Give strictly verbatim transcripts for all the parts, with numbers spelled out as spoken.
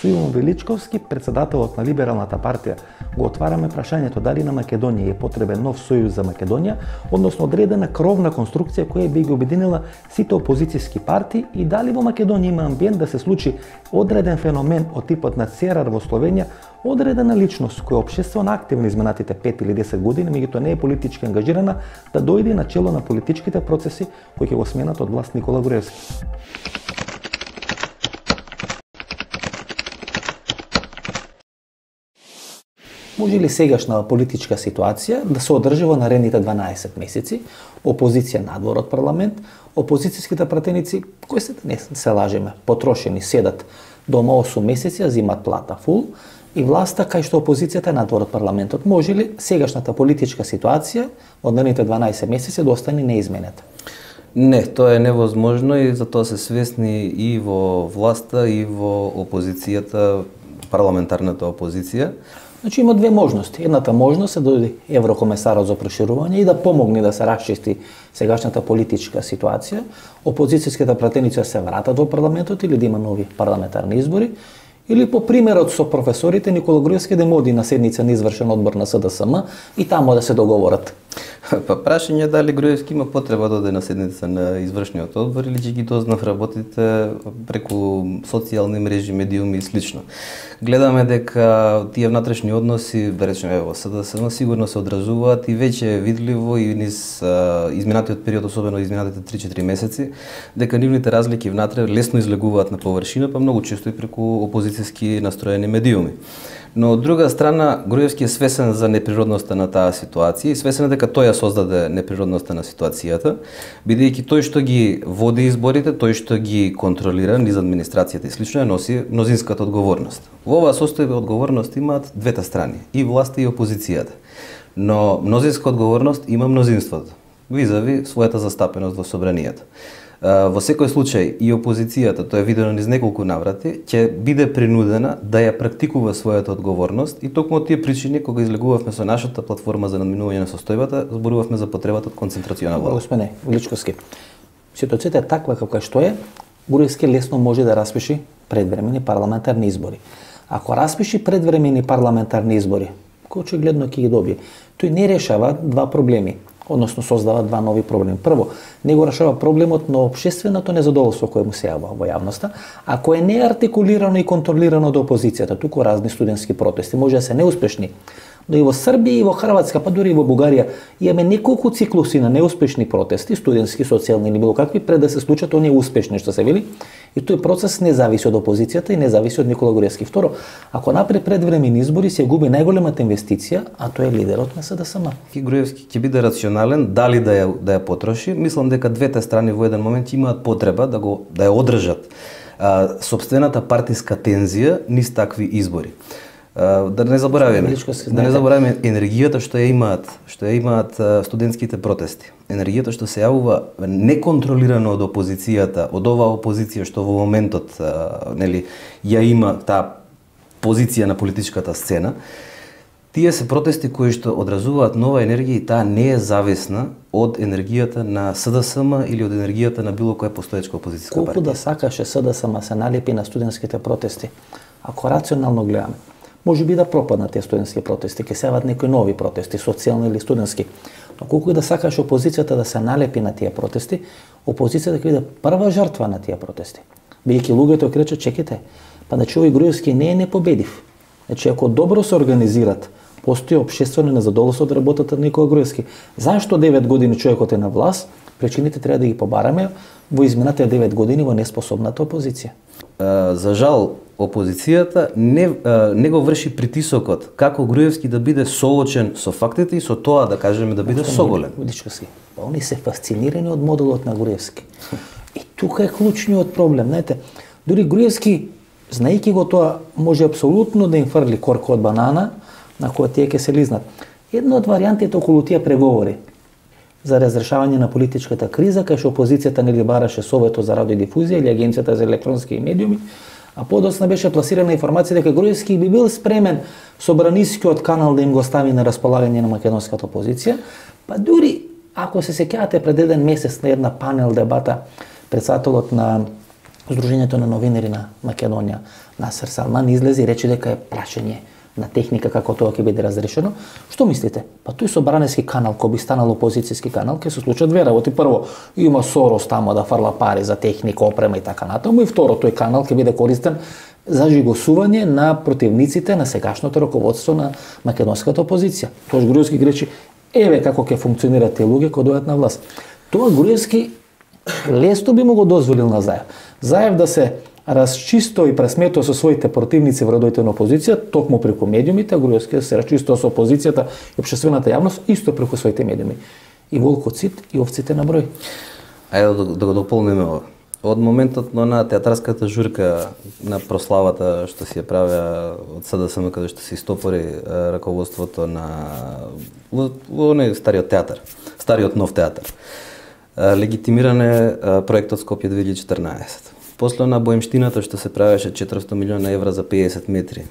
Со Иво Величковски, председателот на Либералната партија, го отвараме прашањето дали на Македонија е потребен нов сојуз за Македонија, односно одредена кровна конструкција која би ги обединила сите опозицијски партии и дали во Македонија има амбиент да се случи одреден феномен од типот на Церар во Словенија, одредена личност која општествено активна изминатите пет или десет години, меѓутоа не е политички ангажирана, да дојде на чело на политичките процеси кои ќе го сменат од власт Никола Груевски. Може ли сегашна политичка ситуација да се одржи во наредните дванаесет месеци, опозиција надвор од парламент, опозицијските пратеници, кои се, не се лажеме, потрошени, седат дома осум месеци, а зимат плата фул, и власта кај што опозицијата е надвор од парламентот. Може ли сегашната политичка ситуација од наредните дванаесет месеци да остане неизменета? Не, тоа е невозможно и затоа се свесни и во власта и во опозицијата, парламентарната опозиција. Значи има две можности. Едната можност е да дојде еврокомесарот за проширување и да помогне да се расчисти сегашната политичка ситуација, опозицијските пратеници се вратат во парламентот или да има нови парламентарни избори, или по примерот со професорите Никола Груевски да му оди на седница на извршен одбор на С Д С М и таму да се договорат. Па прашање дали Груевски има потреба да оде на седница на извршниот одбор или ќе ги дознав работите преку социјални мрежи, медиуми и слично. Гледаме дека тие внатрешни односи, речеме во С Д С М, сигурно се одразуваат и веќе е видливо и низ изминатиот период, особено изминатите три-четири месеци, дека нивните разлики внатре лесно излегуваат на површина, па многу често и преку опозицијски настроени медиуми. Но од друга страна, Груевски е свесен за неприродноста на таа ситуација и свесен е дека тој ја создаде неприродноста на ситуацијата, бидејќи тој што ги води изборите, тој што ги контролира низ администрацијата и слично, ја носи мнозинската одговорност. Во оваа состојба одговорност имаат двете страни, и власта и опозицијата. Но мнозинска одговорност има мнозинството, визави својата застапеност во собранието. Во секој случај и опозицијата, тоа е видено низ неколку наврати, ќе биде принудена да ја практикува својата одговорност и токму од тие причини кога излегувавме со нашата платформа за надминување на состојбата, зборувавме за потребата од концентрациона власт. Господине Величковски, ситуацијата е таква каква што е, Груевски лесно може да распиши предвремени парламентарни избори. Ако распиши предвремени парламентарни избори, кој очигледно ќе ги добие, тој не решава два проблеми, односно создава два нови проблеми. Прво, не го решава проблемот на општественото незадоволство кое му се јавува во јавноста, а кое не е артикулирано и контролирано од опозицијата, туку разни студентски протести, може да се неуспешни. Но и во Србија и во Хрватска, па дури и во Бугарија, имаме неколку циклуси на неуспешни протести, студентски, социјални или било какви, пред да се случат оние успешни што се вели. И тој процес не зависи од опозицијата и не зависи од Никола Груевски. Второ, ако напред предвремени избори се губи најголемата инвестиција, а тоа е лидерот на С Д С М. Груевски ќе биде рационален дали да ја да ја потроши. Мислам дека двете страни во еден момент имаат потреба да го да ја одржат а, собствената партиска тензија низ такви избори. Да не забораваме, да не забораваме енергијата што ја имаат, што ја имаат студентските протести. Енергијата што се јавува неконтролирано од опозицијата, од оваа опозиција што во моментот нели ја има таа позиција на политичката сцена. Тие се протести кои што одразуваат нова енергија и таа не е зависна од енергијата на С Д С М или од енергијата на било која постоечка опозицијска партија. Колку да сакаше С Д С М се налепи на студентските протести, ако рационално гледаме, може би да пропаднат тие студентски протести, ќе се јават некои нови протести, социјални или студентски. Но колку и да сакаш опозицијата да се налепи на тие протести, опозицијата ќе биде прва жртва на тие протести. Бидејќи луѓето ќе речат, чекайте, па значи овој Груевски не е непобедив. Значи ако добро се организират, постои општествено незадоволство од работата на Никола Груевски. Зашто девет години човекот е на власт? Причините треба да ги побараме во изминатите девет години во неспособната опозиција. За жал, опозицијата не, не го врши притисокот како Груевски да биде соочен со фактите и со тоа да кажеме да биде соголен. Величковски, па они се фасцинирани од моделот на Груевски. И тука е клучниот проблем, знаете. Дури Груевски, знаејќи го тоа, може апсолутно да им фрли корка од банана на која тие ќе се лизнат. Една од варијантите околу тие преговори за разрешавање на политичката криза, кај што опозицијата нели бараше Советот за радиодифузија или Агенцијата за електронски медиуми, а подоцна беше пласирана информација дека Груевски би бил спремен собранискиот канал да им го стави на располагање на македонската опозиција, па дури ако се сеќавате пред еден месец на една панел дебата председателот на Сдруженијето на новинари на Македонија, Насер Салман, излезе и рече дека е прашање на техника како тоа ќе биде разрешено. Што мислите? Па тој собранески канал, кој би станал опозицијски канал, ќе се случат две работи. Прво, има Сорос тамо да фарла пари за техника, опрема и така натаму, и второ, тој канал ќе биде користен за жигосување на противниците на сегашното раководство на македонската опозиција. Тоаш Груевски рече, еве како ќе функционираат тие луѓе кои дојдат на власт. Тоа Груевски лесно би му го дозволил на Заев. Заев да се расчисто и пресметува со своите противници во редовите на опозиција, токму преку медиумите, а Груевски се расчистува со опозицијата и општествената јавност исто преку своите медиуми. И волкот сит и овците на број. Ајде да, да го дополниме ова. Од моментот на театарската журка на прославата што си ја правеа од СДСМ, каде што се истопори раководството на оној стариот театар, стариот нов театар. Легитимиран е проектот Скопје две илјади и четрнаесет. После на боемштината што се правеше четиристотини милиона евра за педесет метри.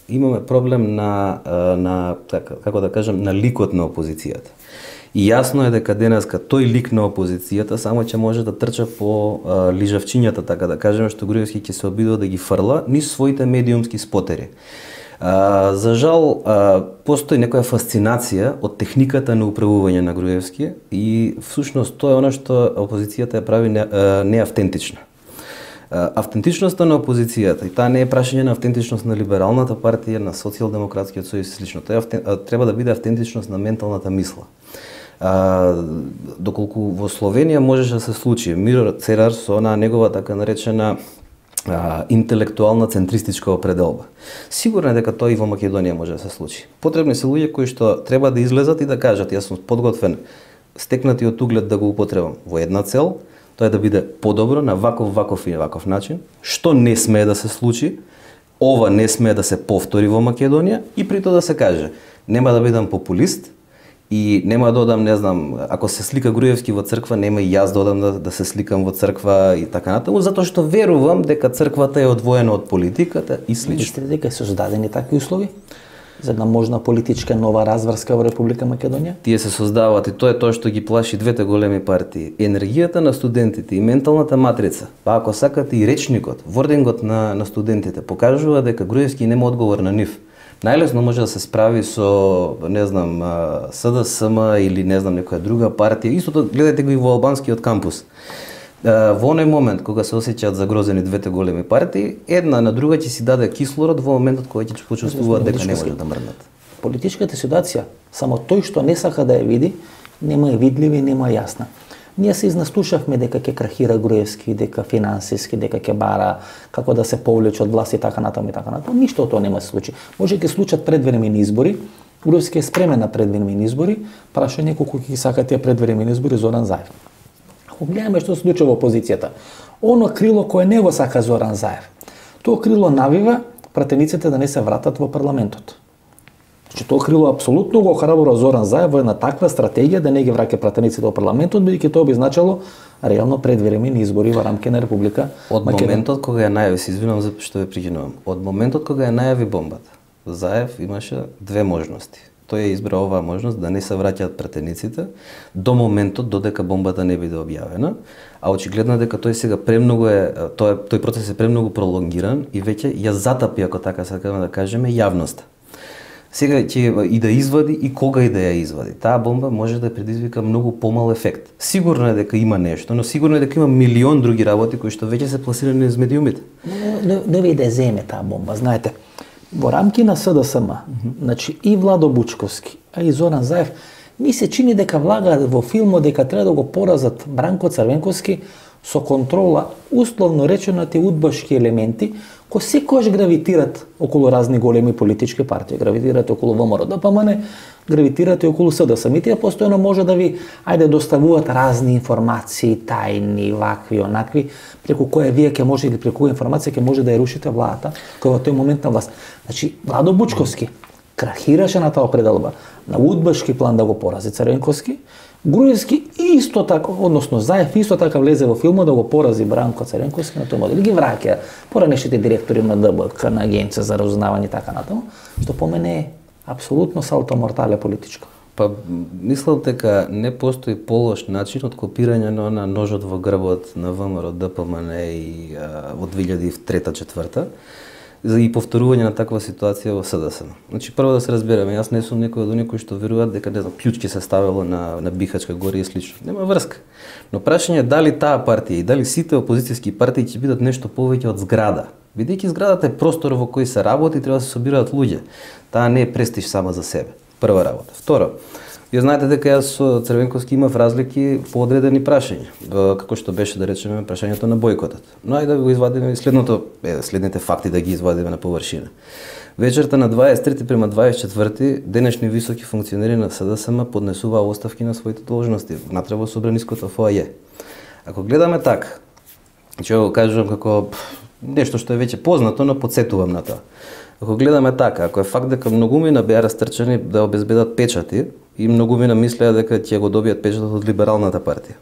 Имаме проблем на на така, како да кажам, на ликот на опозицијата. И јасно е дека денеска тој лик на опозицијата само ќе може да трча по а, лижавчињата, така да кажеме, што Груевски ќе се обидува да ги фрла низ своите медиумски спотери. А, за жал, а, постои некоја фасцинација од техниката на управување на Груевски и всушност тоа е она што опозицијата ја прави не, а, неавтентична. Автентичноста на опозицијата, и таа не е прашање на автентичност на либералната партија, на социјалдемократскиот сојуз и слично. Тоа е, треба да биде автентичност на менталната мисла. А, доколку во Словенија можеше да се случи Миро Церар со она негова така наречена а, интелектуална центристичка определба. Сигурно е дека тоа и во Македонија може да се случи. Потребни се луѓе кои што треба да излезат и да кажат: јас сум подготвен, стекнатиот углед да го употребам во една цел, тоа е да биде подобро на ваков, ваков и ваков начин, што не смее да се случи, ова не смее да се повтори во Македонија, и при тоа да се каже: нема да бидам популист и нема да одам, не знам, ако се слика Груевски во црква, нема и јас да одам да, да се сликам во црква и така натаму, затоа што верувам дека црквата е одвоена од политиката и слично. Мислите дека се создадени такви услови за една можна политичка нова разврска во Република Македонија? Тие се создаваат и тоа е тоа што ги плаши двете големи партии. Енергијата на студентите и менталната матрица, па ако сакате и речникот, вордингот на, на студентите покажува дека Груевски нема одговор на нив. Најлесно може да се справи со, не знам, СДСМ или не знам некоја друга партија. Истото гледајте го и во албанскиот кампус. Во оној момент кога се осеќаат загрозени двете големи партии, една на друга ќе си даде кислород во моментот кога ќе почувствуваат дека не може да мрднат. Политичката ситуација, само тој што не сака да ја види, нема е видлива и нема е јасна. Ние се изнастушавме дека ќе крахира Груевски, дека финансиски, дека ќе бара како да се повлече од власт и така натаму и така натаму. Ништо од тоа нема се случи. Може ќе случат предвремени избори. Груевски е спремен на предвремени избори. Прашање колку ќе сакат тие предвремени избори Зоран Заев. Ако гледаме што се случува во опозицијата, оно крило кое не го сака Зоран Заев, тоа крило навива пратениците да не се вратат во парламентот. Значи тоа крило апсолутно го охрабрува Зоран Заев во една таква стратегија да не ги враќа пратениците во парламентот, бидејќи тоа би значило реално предвремени избори во рамки на Република Од Македонија. Моментот кога ја најави, се извинувам за што ве прекинувам. Од моментот кога ја најави бомбата, Заев имаше две можности. Тој ја избра оваа можност да не се враќаат пратениците до моментот додека бомбата не биде објавена, а очигледно дека тој сега премногу е тој тој процес е премногу пролонгиран и веќе ја затапи, ако така сакаме да кажеме, јавноста. Сега ќе и да извади и кога и да ја извади. Таа бомба може да предизвика многу помал ефект. Сигурно е дека има нешто, но сигурно е дека има милион други работи кои што веќе се пласирани низ медиумите. Не, не ви да земе таа бомба, знаете. Во рамки на СДСМ, mm-hmm. значи и Владо Бучковски, а и Зоран Заев, ми се чини дека влагаат во филмот дека треба да го поразат Бранко Црвенковски со контрола, условно речено, тие удбашки елементи, кои секојаш гравитират околу разни големи политички партии, гравитират околу ВМРО Д П М Н, гравитират и околу СДСМ. И тие постојано може да ви, ајде, доставуваат разни информации, тајни, вакви, онакви, преку која вие ќе може или преку која информација ќе може да ја рушите владата, која во тој момент на власт. Значи, Владо Бучковски крахираше на таа определба, на удбашки план да го порази Црвенковски, Груевски исто така, односно Заев исто така влезе во филмот да го порази Бранко Црвенковски на тој модел. Ги враќа поранешните директори на Д Б К, на Агенција за разузнавање и така натаму, што по мене е апсолутно салто мортале политичко. Па мислам дека не постои полош начин од копирање на, на ножот во грбот на ВМРО, ДПМН и а, во две илјади и трета-четврта и повторување на таква ситуација во СДСМ. Значи прво да се разбереме, јас не сум некој од оние кои што веруваат дека не знам клучки се ставело на на Бихачка горе и слично. Нема врска. Но прашање е дали таа партија и дали сите опозицијски партии ќе бидат нешто повеќе од зграда. Бидејќи зградата е простор во кој се работи, треба да се собираат луѓе. Таа не е престиж сама за себе. Прва работа. Второ, вие знаете дека јас со Црвенковски имав разлики по одредени прашања, како што беше да речеме прашањето на бойкотот. Но ајде да го извадиме и следното, е, следните факти да ги извадиме на површина. Вечерта на дваесет и трети према дваесет и четврти денешни високи функционери на СДСМ поднесуваа оставки на своите должности внатре во собраниското фоаје. Ако гледаме така, ќе го кажувам како нешто што е веќе познато, но подсетувам на тоа. Ако гледаме така, ако е факт дека многумина беа растрчани да обезбедат печати и многумина мислеа дека ќе го добијат печатот од Либералната партија.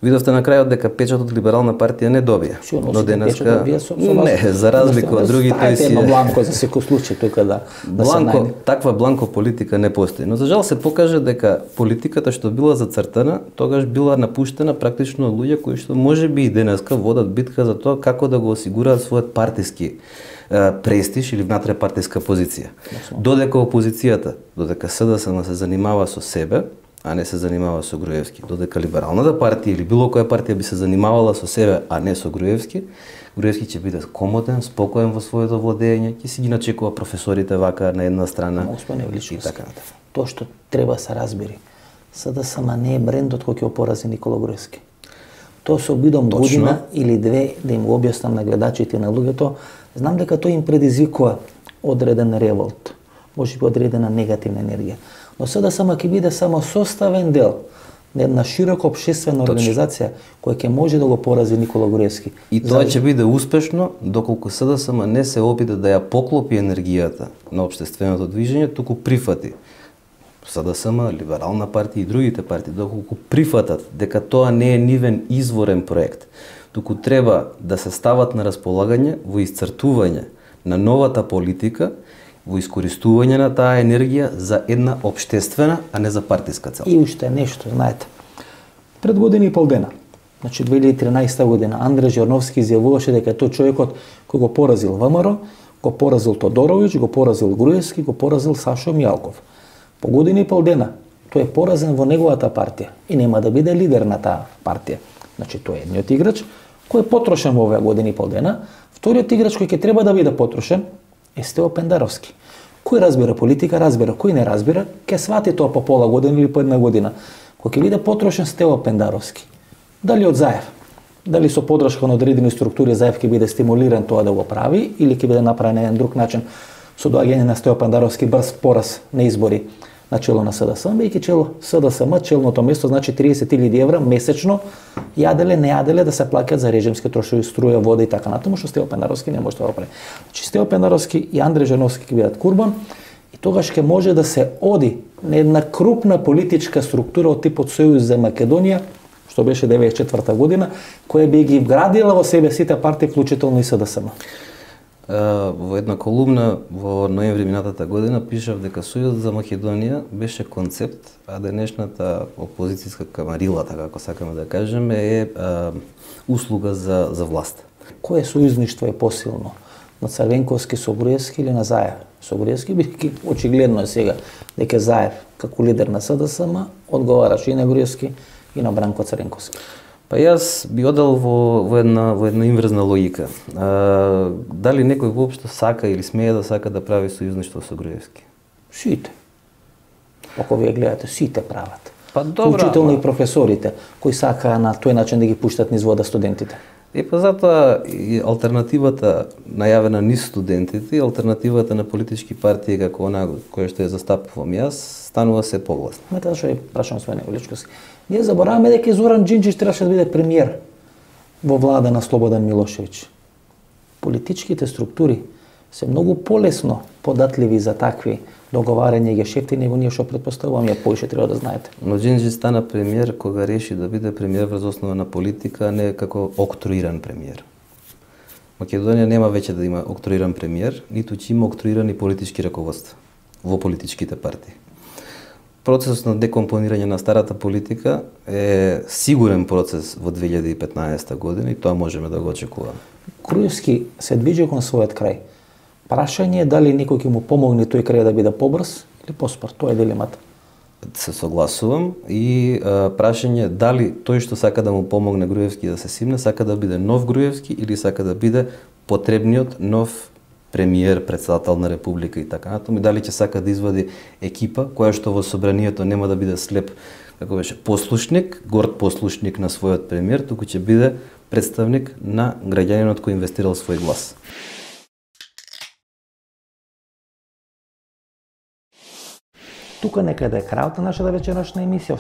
Видовте на крајот дека печатот од Либерална партија не добија. Но денеска не, за разлика од други тој си е бланко за секој случај тука да да се најде. Таква бланко политика не постои. Но за жал се покаже дека политиката што била зацртана, тогаш била напуштена практично од луѓе кои што можеби и денеска водат битка за тоа како да го осигураат својот партиски престиж или внатре партиска позиција. Додека опозицијата, додека СДСМ се занимава со себе, а не се занимава со Груевски, додека Либералната партија или било која партија би се занимавала со себе, а не со Груевски, Груевски ќе биде комоден, спокоен во своето владење, ќе си ги начекува професорите вака на една страна и така натаму. Тоа што треба се разбери, СДСМ не е брендот кој ќе опорази Никола Груевски. Тоа се обидам година или две да им го објаснам на гледачите и на луѓето. Знам дека тој им предизвикува одреден револт, можеби одредена негативна енергија. Но СДСМ ќе биде само составен дел на една широка општествена организација која ќе може да го порази Никола Груевски. И тоа ќе биде успешно доколку СДСМ не се обиде да ја поклопи енергијата на општественото движење, туку прифати СДСМ, Либерална партија и другите партии, доколку прифатат дека тоа не е нивен изворен проект, туку треба да се стават на располагање во исцртување на новата политика, во искористување на таа енергија за една општествена, а не за партиска цел. И уште нешто, знаете. Пред година и пол дена, значи две илјади и тринаесета година, Андре Жорновски изјавуваше дека тој човекот кој го поразил ВМРО, го поразил Тодоровиќ, го поразил Груевски, го поразил Сашо Мијалков. По година и пол дена тој е поразен во неговата партија и нема да биде лидер на таа партија. Значи тој е едниот играч кој е потрошен во оваа година и пол дена. Вториот играч кој ќе треба да биде потрошен е Стево Пендаровски. Кој разбира политика, разбира, кој не разбира, ќе свати тоа по пола година или по една година. Кој ќе биде потрошен Стево Пендаровски. Дали од Заев, дали со подршка на одредени структури Заев ќе биде стимулиран тоа да го прави или ќе биде направен на еден друг начин со доаѓање на Стево Пендаровски брз пораз на избори на чело на СДСМ, бејќи чело СДСМ, челното место значи триесет илјади евра месечно, јаделе, не јаделе да се плаќаат за режимски трошови, струја, вода и така натаму, што Стево Пендаровски не може да го прави. Значи Стево Пендаровски и Андре Жорновски ќе бидат курбан и тогаш ќе може да се оди на една крупна политичка структура од типот Сојуз за Македонија, што беше деветдесет и четврта година, која би ги вградила во себе сите партии, вклучително и СДСМ. Во една колумна во ноември минатата година пишав дека Сојузот за Македонија беше концепт, а денешната опозицијска камарила, така како сакаме да кажеме, е а, услуга за за власт. Кое сојузништво е посилно? На Црвенковски со Груевски или на Заев? Со Груевски бидејќи очигледно е сега дека Заев како лидер на СДСМ одговараше и на Груевски и на Бранко Црвенковски. Па јас би одел во, во една во една инверзна логика. А, дали некој воопшто сака или смее да сака да прави сојузништво со Груевски? Сите. Ако вие гледате, сите прават. Па добро, вклучително и професорите кои сакаа на тој начин да ги пуштат низ вода студентите. И па затоа и алтернативата најавена низ студентите и алтернативата на политички партии како она која што ја застапувам јас станува се погласна. Мета што ја прашам свој Величковски. Ние забораваме дека Зоран Џинџич требаше да биде премиер во влада на Слободан Милошевиќ. Политичките структури се многу полесно податливи за такви договарања и гешефти него ние што претпоставувам, ја поише треба да знаете. Но Џинџич стана премиер кога реши да биде премиер врз основа на политика, а не како октруиран премиер. Македонија нема веќе да има октруиран премиер, ниту ќе има октруирани политички раководства во политичките партии. процесот на декомпонирање на старата политика е сигурен процес во две илјади и петнаесетта година и тоа можеме да го очекуваме. Груевски се движи кон својот крај. Прашање е дали некој ќе му помогне тој крај да биде побрз или поспор. Тоа е дилемата. Се согласувам и а, прашање е дали тој што сака да му помогне Груевски да се симне, сака да биде нов Груевски или сака да биде потребниот нов премиер, председател на република и така натаму, и дали ќе сака да извади екипа која што во собранието нема да биде слеп, како беше, послушник, горд послушник на својот премиер, туку ќе биде представник на граѓанинот кој инвестирал свој глас. Тука некаде е крајот на нашата вечерашна емисија.